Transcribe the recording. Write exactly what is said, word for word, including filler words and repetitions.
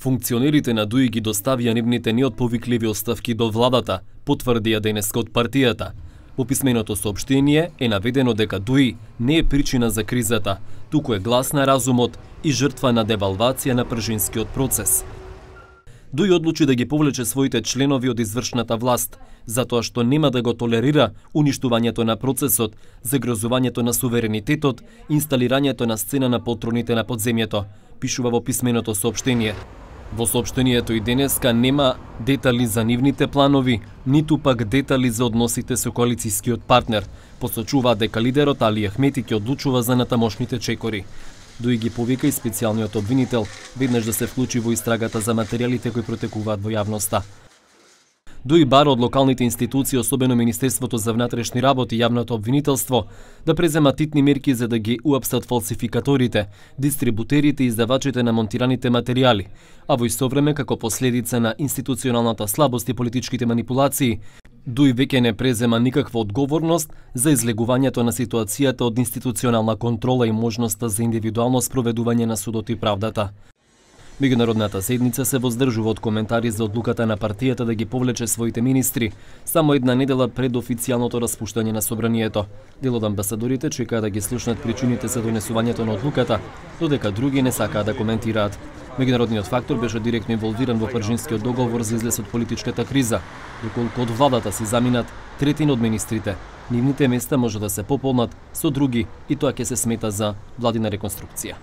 Функционерите на ДУИ ги доставија нивните неотповикливи оставки до владата, потврдија денеска од партијата. Во писменото соопштение е наведено дека ДУИ не е причина за кризата, туку е глас на разумот и жртва на девалвација на пржинскиот процес. ДУИ одлучи да ги повлече своите членови од извршната власт, затоа што нема да го толерира уништувањето на процесот, загрозувањето на суверенитетот, инсталирањето на сцена на полтроните на подземјето, пишува во писменото соопштение. Во соопштението и денеска нема детали за нивните планови, ниту пак детали за односите со коалицијскиот партнер. Посочува дека лидерот Али Ахмети ќе одлучува за натамошните чекори. ДУИ ги повика и специјалниот обвинител веднаш да се вклучи во истрагата за материјалите кои протекуваат во јавноста. ДУИ бара од локалните институции, особено Министерството за внатрешни работи и јавното обвинителство, да преземат титни мерки за да ги уапсат фалсификаторите, дистрибутерите и издавачите на монтираните материјали, а во исто време како последица на институционалната слабост и политичките манипулации, ДУИ веќе не презема никаква одговорност за излегувањето на ситуацијата од институционална контрола и можноста за индивидуално спроведување на судот и правдата. Меѓународната седница се воздржува од коментари за одлуката на партијата да ги повлече своите министри само една недела пред официјалното распуштање на собранието. Дел од амбасадорите чекаа да ги слушнат причините за донесувањето на одлуката, додека други не сакаа да коментираат. Меѓународниот фактор беше директно инволвиран во пржинскиот договор за излез од политичката криза, доколку од владата си заминат третина од министрите. Нивните места може да се пополнат со други и тоа ќе се смета за владина реконструкција.